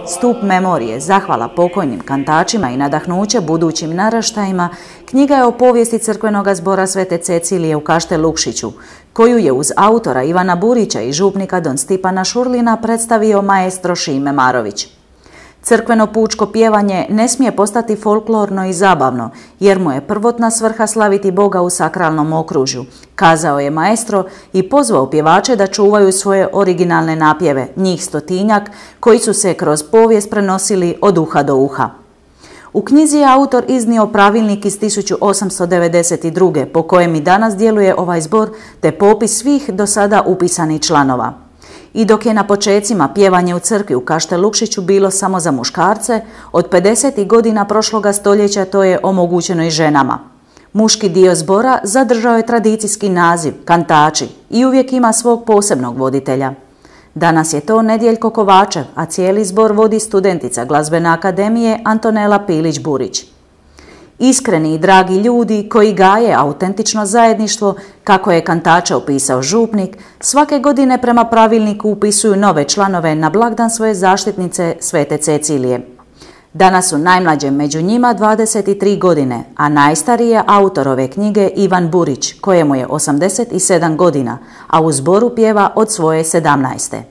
Stup memorije, zahvala pokojnim kantačima i nadahnuće budućim naraštajima, knjiga je o povijesti crkvenog zbora Svete Cecilije u Kaštel Lukšiću, koju je uz autora Ivana Burića i župnika don Stipana Šurlina predstavio maestro Šime Marović. Crkveno pučko pjevanje ne smije postati folklorno i zabavno, jer mu je prvotna svrha slaviti Boga u sakralnom okružju, kazao je maestro i pozvao pjevače da čuvaju svoje originalne napjeve, njih 100-tinjak, koji su se kroz povijest prenosili od uha do uha. U knjizi je autor iznio pravilnik iz 1892. po kojem i danas djeluje ovaj zbor, te popis svih do sada upisanih članova. I dok je na počecima pjevanje u crkvi u Kaštel Lukšiću bilo samo za muškarce, od 50. godina prošloga stoljeća to je omogućeno i ženama. Muški dio zbora zadržao je tradicijski naziv, kantači, i uvijek ima svog posebnog voditelja. Danas je to Nedjeljko Kovačev, a cijeli zbor vodi studentica Glazbene akademije Antonela Pilić-Burić. Iskreni i dragi ljudi koji gaje autentično zajedništvo, kako je kantače opisao župnik, svake godine prema pravilniku upisuju nove članove na blagdan svoje zaštitnice Svete Cecilije. Danas su najmlađe među njima 23 godine, a najstariji je autor ove knjige Ivan Burić, kojemu je 87 godina, a u zboru pjeva od svoje 17.